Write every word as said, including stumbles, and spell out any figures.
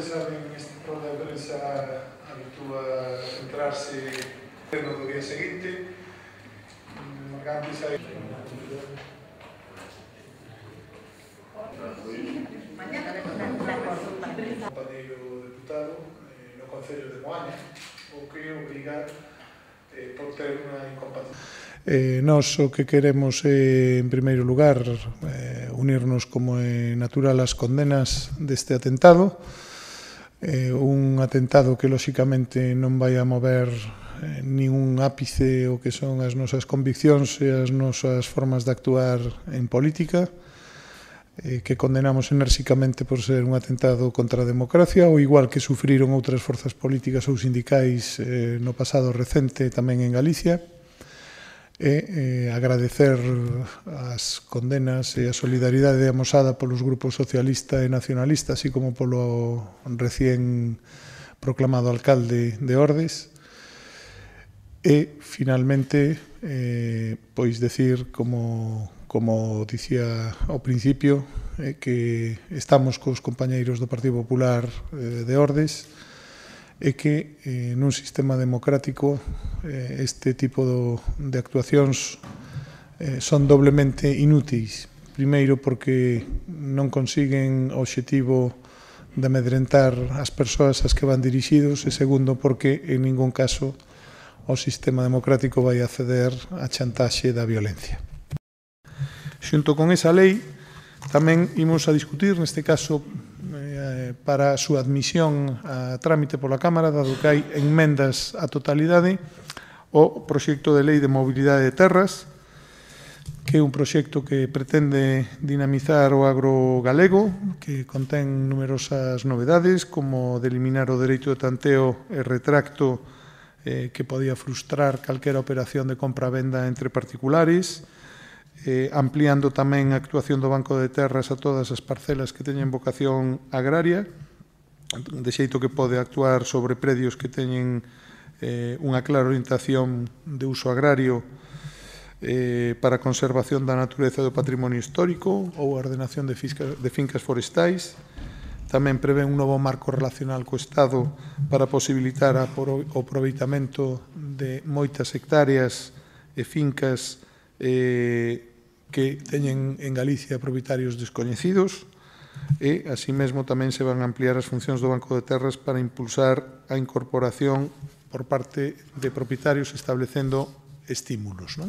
Saben, este programa de prensa habitúa a centrarse no día seguinte. Antes hai un compañeiro deputado no Concello de Moaña, o que obriga eh, por ter unha incompatibilidade. Eh, nós o que queremos é, en primeiro lugar, eh, unirnos como é natural ás condenas deste atentado. Eh, un atentado que, lóxicamente, non vai a mover eh, ningún ápice o que son as nosas conviccións e as nosas formas de actuar en política, eh, que condenamos enérxicamente por ser un atentado contra a democracia, o igual que sufriron outras forzas políticas ou sindicais eh, no pasado recente tamén en Galicia, e eh, agradecer as condenas e a solidaridade amosada polos grupos socialista e nacionalista, así como polo recién proclamado alcalde de Ordes. E, finalmente, eh, pois decir, como, como dicía ao principio, eh, que estamos cos compañeiros do Partido Popular eh, de Ordes, é que eh, nun sistema democrático eh, este tipo do, de actuacións eh, son doblemente inúteis. Primeiro, porque non consiguen o obxectivo de amedrentar as persoas ás que van dirixidos, e segundo, porque en ningún caso o sistema democrático vai acceder á chantaxe da violencia. Xunto con esa lei, tamén imos a discutir, neste caso, para a súa admisión a trámite pola Cámara, dado que hai enmendas á totalidade, o proxecto de lei de mobilidade de terras, que é un proxecto que pretende dinamizar o agro galego, que contén numerosas novedades, como de eliminar o dereito de tanteo e retracto eh, que podía frustrar calquera operación de compra-venda entre particulares, Eh, ampliando tamén a actuación do Banco de Terras a todas as parcelas que teñen vocación agraria, de xeito que pode actuar sobre predios que teñen eh, unha clara orientación de uso agrario eh, para a conservación da natureza do patrimonio histórico ou a ordenación de, fisca, de fincas forestais. Tamén prevé un novo marco relacional co Estado para posibilitar o aproveitamento de moitas hectáreas e fincas eh, que teñen en Galicia propietarios descoñecidos, e, así mesmo, tamén se van a ampliar as funcións do Banco de Terras para impulsar a incorporación por parte de propietarios, establecendo estímulos, non?